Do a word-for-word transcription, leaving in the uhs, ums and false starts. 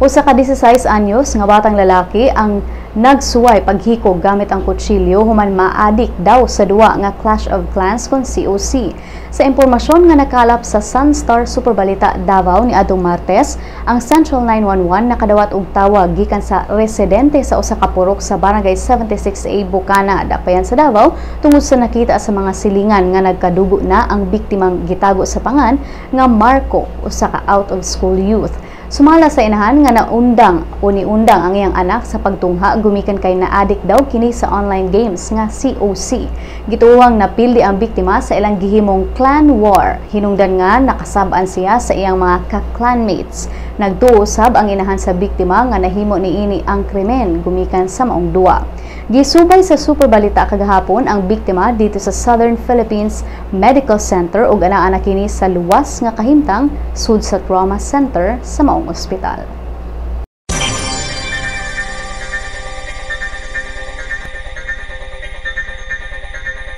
Usa ka labing-siyam anyos nga batang lalaki ang nagsuway paghikog gamit ang kutsilyo human maadik daw sa duwa nga Clash of Clans kon C O C. Sa impormasyon nga nakalap sa Sunstar Superbalita Davao ni adtong Martes, ang Central nine one one nakadawat og tawag gikan sa residente sa usa ka purok sa Barangay seventy-six A, Bukana, dapayan sa Davao, tungod sa nakita sa mga silingan nga nagkadugo na ang biktimang gitago sa pangan nga Marco, usa ka out of school youth. Sumala sa inahan nga naundang o niundang ang iyang anak sa pagtungha gumikan kay naadik daw kini sa online games nga C O C. Gituohang napildi ang biktima sa ilang gihimong clan war. Hinungdan nga nakasab-an siya sa iyang mga ka-clanmates. Nagtuo sab ang inahan sa biktima nga nahimo niini ang krimen gumikan sa maong duwa. Gisubay sa Super Balita kagahapon ang biktima didto sa Southern Philippines Medical Center ug anaa na kini sa luwas nga kahimtang sud sa trauma center sa maong ospital.